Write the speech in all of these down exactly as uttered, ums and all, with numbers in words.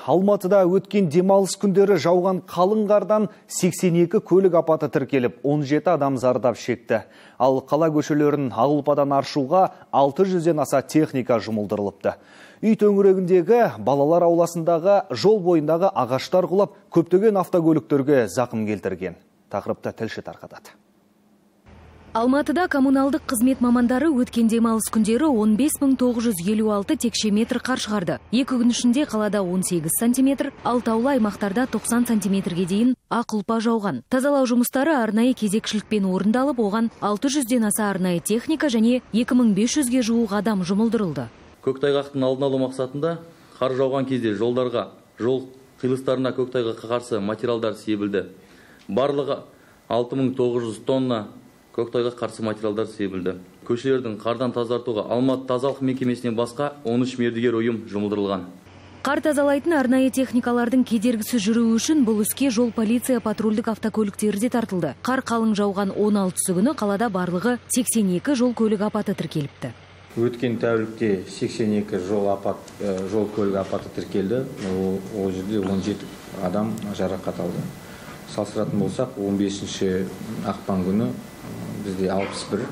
Алматыда өткен демалыс күндері жауған қалың қардан сексен екі көлік апаты тіркеліп, он жеті адам зардап шекті. Ал қала көшелерін ақ ұлпадан аршуға алты жүзден аса техника жұмылдырылыпты. Үй төңірегіндегі балалар ауласындағы жол бойындағы ағаштар құлап, көптеген автокөліктерге зақым келтірген. Тақырыпты тілші тарқатады. Алматыда коммуналдық қызмет мамандары өткен демалыс күндері он бес мың тоғыз жүз елу алты текше метр қар шығарды. Екі күн ішінде қалада он сегіз сантиметр, ал таулы аймақтарда тоқсан сантиметрге дейін ақ ұлпа жауған. Тазалау жұмыстары арнайы кезекшілікпен орындалып, оған алты жүзден аса арнайы техника және екі мың бес жүзге жуық адам жұмылдырылды. Көктайғақтың алдын алу мақсатында қар жауған кезде жолдарға, жол қиылыстарына көктайғаққа қарсы материалдар себілді. Барлығы алты мың тоғыз жүз тонна көктайғақ қарсы материалдар себілді. Көшелердің қардан тазартуға Алматы тазалық мекемесінен басқа он үш мердігер ұйым жұмылдырылған. Қар тазалайтын арнайы техникалардың кедергісіз жүруі үшін бұл іске жол полиция патрульдік автокөліктері де тартылды. Қар қалың жауған он алтысы күні қалада барлығы сексен екі жол көлік апаты тіркеліпті. Өткен тәулікте сексен екі жол апат, жол көлік апаты тіркелді. Ол жерде он жеті адам жарақат алды. Салыстыратын болсақ, он бесінші ақпан күні бізде алпыс бір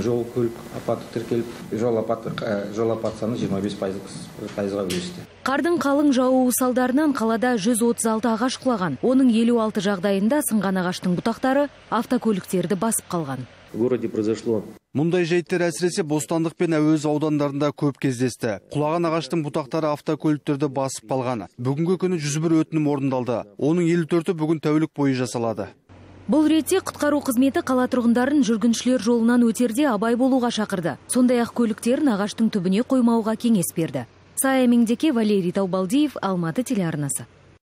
жол көлік апаты тіркеліп, жол апаты жол апат саны жиырма бес пайызға өсті. Қардың қалың жаууы салдарынан қалада жүз отыз алты ағаш құлаған. Оның елу алты жағдайында сынған ағаштың бұтақтары автокөліктерді басып қалған. В городе произошло. Мұндай жайттер әсіресе Бостандық пен Әуезов аудандарында көп кездесті. Құлаған ағаштың бұтақтары автокөліктерді басып қалған. Бүгінгі күні жүз бір өтінім орындалды. Оның елу төрті бүгін тәулік бойы жасалады. Бұл ретте құтқару қызметі қала тұрғындарын жүргіншілер жолынан өтерде абай болуға шақырды. Сондай-ақ көліктерін ағаштың түбіне қоймауға кеңес берді. Сая Меңдеке, Валерий Таубалдиев, Алматы телеарнасы.